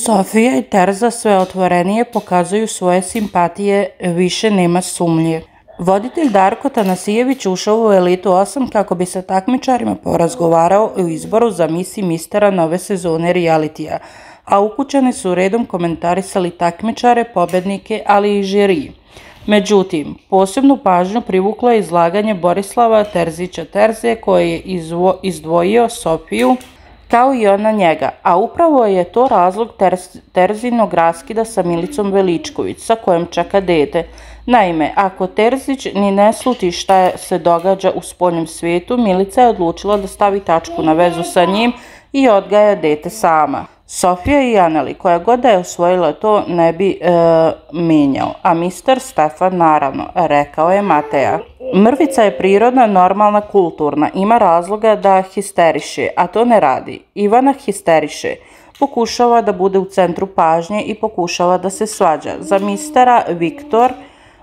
Sofija i Terza sve otvorenije pokazuju svoje simpatije, više nema sumnje. Voditelj Darko Tanasijević ušao u Elitu 8 kako bi sa takmičarima porazgovarao o izboru za Miss i mistera nove sezone realitija, a ukućani su redom komentarisali takmičare, pobednike, ali i žiri. Međutim, posebnu pažnju privuklo je izlaganje Borislava Terzića Terze koji je izdvojio Sofiju kao i ona njega, a upravo je to razlog Terzinog raskida sa Milicom Veličković, sa kojom čeka dete. Naime, ako Terzić ni ne sluti šta se događa u spoljnom svijetu, Milica je odlučila da stavi tačku na vezu sa njim i odgaja dete sama. Sofija i Aneli, koja god da je osvojila, to ne bi menjao, a mister Stefan naravno, rekao je Mateja. Mrvica je prirodna, normalna, kulturna, ima razloga da histeriše, a to ne radi. Ivana histeriše, pokušava da bude u centru pažnje i pokušava da se svađa. Za mistera Viktor,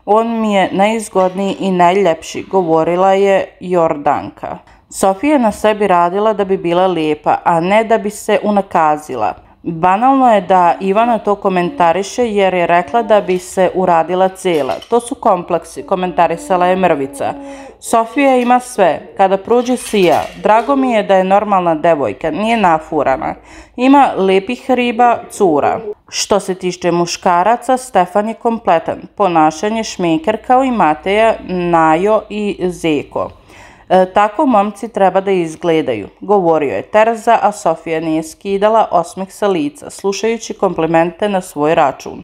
on mi je najizgodniji i najljepši, govorila je Jordanka. Sofija je na sebi radila da bi bila lijepa, a ne da bi se unakazila. Banalno je da Ivana to komentariše jer je rekla da bi se uradila cijela. To su kompleksi, komentarisala je Mrvica. Sofija ima sve, kada prođe sija. Drago mi je da je normalna devojka, nije nafurana. Ima lijepih riba, cura. Što se tiče muškaraca, Stefan je kompletan. Ponašanje šmeker kao i Mateja, Najo i Zeko. Tako momci treba da izgledaju, govorio je Terza, a Sofija nije skidala osmeh sa lica, slušajući komplimente na svoj račun.